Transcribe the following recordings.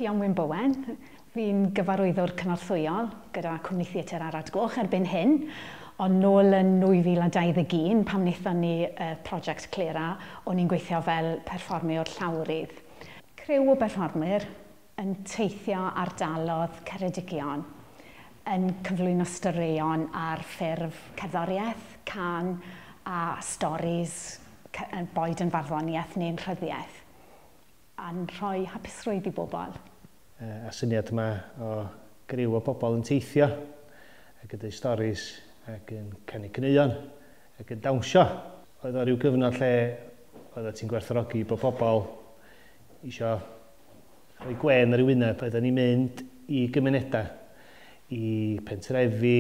Ffion Wyn Bowen, fi'n gyfarwyddwr cynorthwyol gyda Cwmni Theatr Arad Goch erbyn hyn, ond nôl yn 2021, pam wnaethon ni prosiect Clera, o'n i'n gweithio fel perfformiwr llawrydd. Criw o berfformwyr yn teithio ardalodd Ceredigion, yn cyflwyno straeon ar ffurf cerddoriaeth, cân a storis, boed yn farddoniaeth neu'n rhyddiaeth, a'n rhoi hapusrwydd i bobl. A syniad yma o griw o bobl yn teithio ac yn dweud storis ac yn canu caneuon ac yn dawnsio. Oedd o ryw gyfnod lle oedd ti'n gwerthfawrogi bod pobl isio rhoi gwên ar ei wyneb. Oedden ni'n mynd i gymunedau, i pentrefi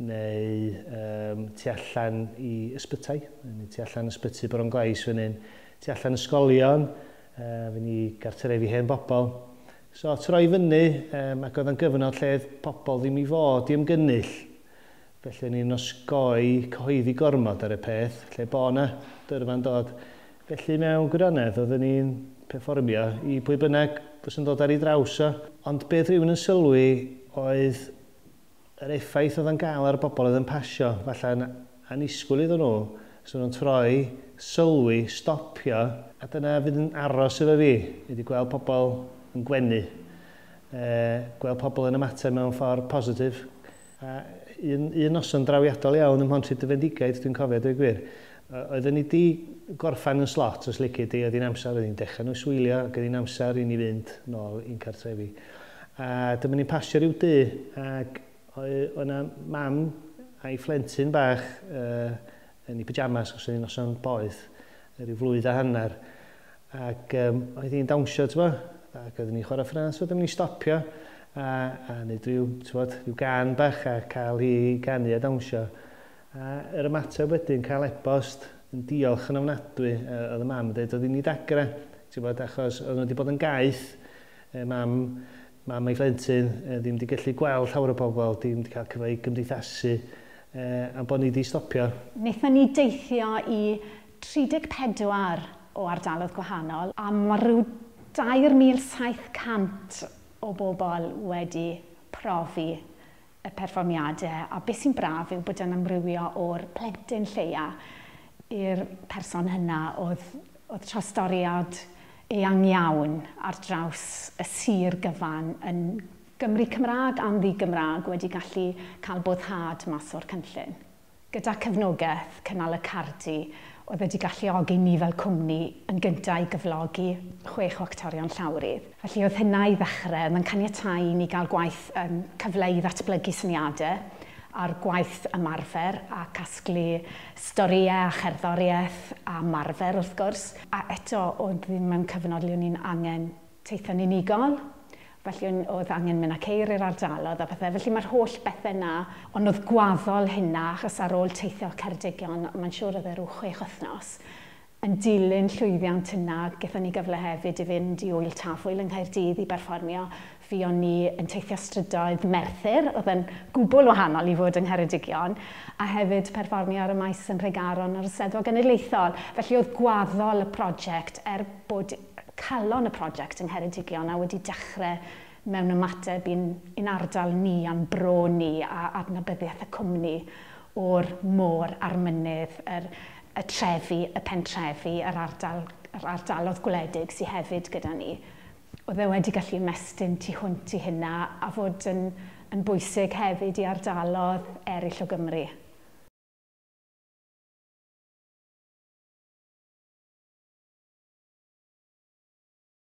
neu tu allan i ysbytai, neu tu allan ysbyty Bronglais fan hyn, tu allan ysgolion, fy ni gartrefi hen bobl. So troi fyny, ac oedd yn gyfnod lle oedd pobl ddim i fod i ymgynnull. Felly o'n i'n osgoi cyhoeddi gormod ar y peth, lle bo 'na dyrfa'n dod. Felly mewn gwirionedd oedden ni'n perfformio i pwy bynnag fysa'n dod ar ei draws o. Ond beth rhywun yn sylwi oedd yr effaith oedd yn gael ar y bobl oedd yn pasio, falle'n annisgwyl iddyn nhw, so nhw'n troi, sylwi, stopio, a dyna fydd yn aros efo fi, ydy gweld pobl yn gwenu, gweld pobl yn ymateb mewn ffordd positif. A un noson drawiadol iawn ym Mhontrhyd-y-Fendigaid, dwi'n cofio, dweud gwir. Oedden ni di gorffan yn slot, os lici di, oedd hi'n amser, oedd hi'n dechrau noswylio, ac oedd hi'n amser i ni fynd nôl i'n cartrefi. A dyma ni'n pasio rhyw dŷ, ac oedd yna mam a'i phlentyn bach yn ei pyjamas, os oedd hi'n noson boeth, rhyw flwydd a hanner. Ac oedd hi'n dawnsio, ti'n bo? Ac oedden ni'n chwarae ffrâs, oedden ni'n stopio a neud rhyw, ti'n bod, rhyw gân bach a cael hi ganu a dawnsio. A yr ymateb wedyn, cael e-bost yn diolch yn ofnadwy, oedd y mam yn dweud, oedd hi'n ei dagra, ti'n bod, achos oedd nhw wedi bod yn gaeth, mam a'i phlentyn, ddim wedi gallu gweld llawer o bobl, ddim wedi cael cyfle i gymdeithasu, a bod ni wedi stopio. Wnaethon ni deithio i 34 o ardaloedd gwahanol, a mae rhyw 3,700 o bobl wedi profi y perfformiadau, a beth sy'n braf yw bod yn amrywio o'r plentyn lleia i'r person hynna oedd trostoriad eang iawn ar draws y sir gyfan yn Gymru Cymraeg a'n ddi-Gymraeg wedi gallu cael boddhad mas o'r cynllun. Gyda cefnogaeth Cynnal y Cardi, oedd wedi galluogi ni fel cwmni yn gyntaf i gyflogi 6 o actorion llawrydd. Felly oedd hynna i ddechrau, oedd yn caniatáu i ni gael gwaith cyfle i ddatblygu syniadau a'r gwaith ymarfer a casglu storïau a cherddoriaeth a ymarfer wrth gwrs. A eto oedd ddim mewn cyfnod le o'n i'n angen teithio'n unigol, felly oedd angen mynd â ceir i'r ardaloedd a pethau. Felly mae'r holl bethau yna, ond oedd gwaddol hynna, achos ar ôl teithio Ceredigion, mae'n siŵr oedd e rhyw 6 wythnos, yn dilyn llwyddiant yna, gaethon ni gyfle hefyd i fynd i Ŵyl Tafwyl yng Nghaerdydd i berfformio. Fuon ni yn teithio strydoedd Merthyr, oedd yn gwbl wahanol i fod yng Ngheredigion, a hefyd perfformio ar y maes yn Nhregaron ar y Steddfod Genedlaethol. Felly oedd gwaddol y prosiect, er bod calon y prosiect yng Ngheredigion a wedi dechrau mewn ymateb i'n ardal ni a'n bro ni a adnabyddiaeth y cwmni o'r môr a'r mynydd, y trefi, y pentrefi, yr ardalodd gwledig sydd hefyd gyda ni. Oedd e wedi gallu ymestyn tu hwnt i hynna a fod yn bwysig hefyd i ardalodd eraill o Gymru.